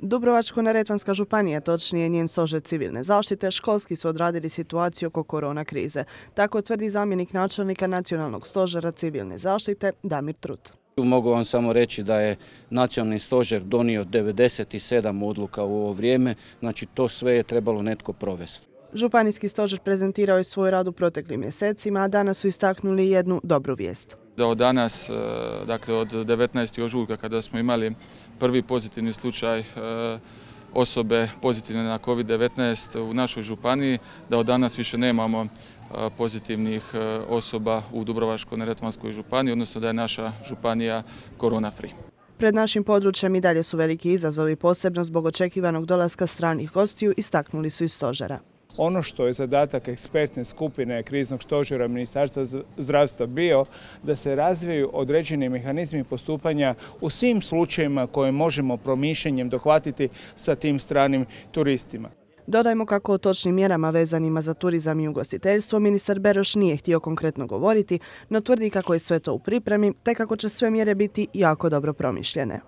Dubrovačko-neretvanska županija, točnije njen stožer civilne zaštite, školski su odradili situaciju oko korona krize. Tako tvrdi zamjenik načelnika Nacionalnog stožera civilne zaštite Damir Trut. Mogu vam samo reći da je nacionalni stožer donio 97 odluka u ovo vrijeme, znači to sve je trebalo netko provesti. Županijski stožer prezentirao je svoj rad u proteklim mjesecima, a danas su istaknuli jednu dobru vijest. Da od danas, dakle od 19. ožujka kada smo imali prvi pozitivni slučaj osobe pozitivne na COVID-19 u našoj županiji, da od danas više nemamo pozitivnih osoba u Dubrovačko-neretvanskoj županiji, odnosno da je naša županija korona free. Pred našim područjem i dalje su veliki izazovi, posebno zbog očekivanog dolaska stranih gostiju, istaknuli su iz stožera. Ono što je zadatak ekspertne skupine kriznog stožera Ministarstva zdravstva bio da se razviju određeni mehanizmi postupanja u svim slučajevima koje možemo promišljanjem dohvatiti sa tim stranim turistima. Dodajmo kako o točnim mjerama vezanima za turizam i ugostiteljstvo ministar Beroš nije htio konkretno govoriti, no tvrdi kako je sve to u pripremi te kako će sve mjere biti jako dobro promišljene.